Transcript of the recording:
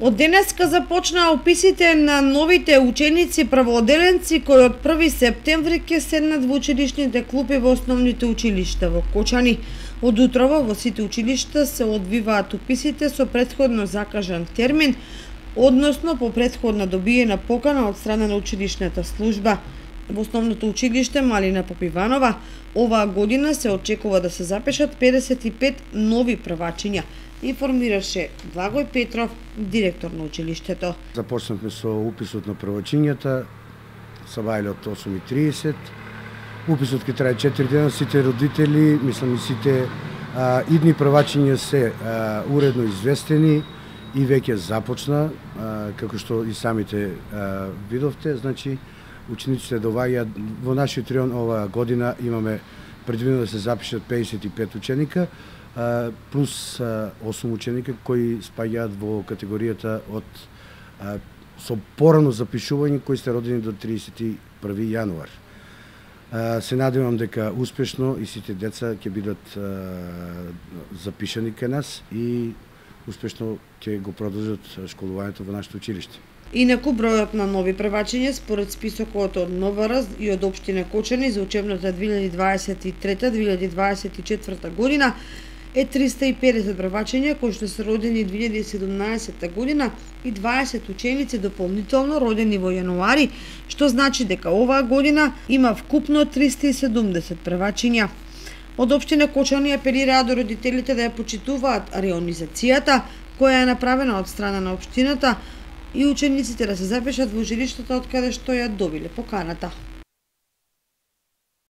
Од денеска започнаа уписите на новите ученици првоодделенци кои од 1 септември ќе седнат во училишните клупи во основните училишта во Кочани. Од утрово во сите училишта се одвиваат уписите со претходно закажан термин, односно по претходна добиена покана од страна на училишната служба. Во основното училиште Малина Попиванова оваа година се очекува да се запишат 55 нови првачиња, информираше Благој Петров, директор на училиштето. Започнавме со уписот на првачињата, сабајле од 8:30. Уписот ќе трае 4 дена, сите родители, мислам и сите идни првачиња се уредно известени и веќе започна, како што и самите видовте, значи учениците доаѓаат во нашиот район оваа година имаме предвидено да се запишат 55 ученика, плюс 8 ученика кои спаѓаат во категоријата од со порано запишување кои сте родени до 31 јануар. Се надевам дека успешно и сите деца ќе бидат запишани кај нас и успешно ќе го продолжат школувањето во нашето училиште. Инаку бројот на нови првачиња според списокот од МВР и од општина Кочани за учебната 2023-2024 година е 350 првачиња кои што се родени 2017 година и 20 ученици дополнително родени во јануари, што значи дека оваа година има вкупно 370 првачиња. Од општина Кочани апелираа до родителите да ја почитуваат реонизацијата која е направена од страна на општината и учениците да се запишат во училиштата од каде што ја добиле поканата.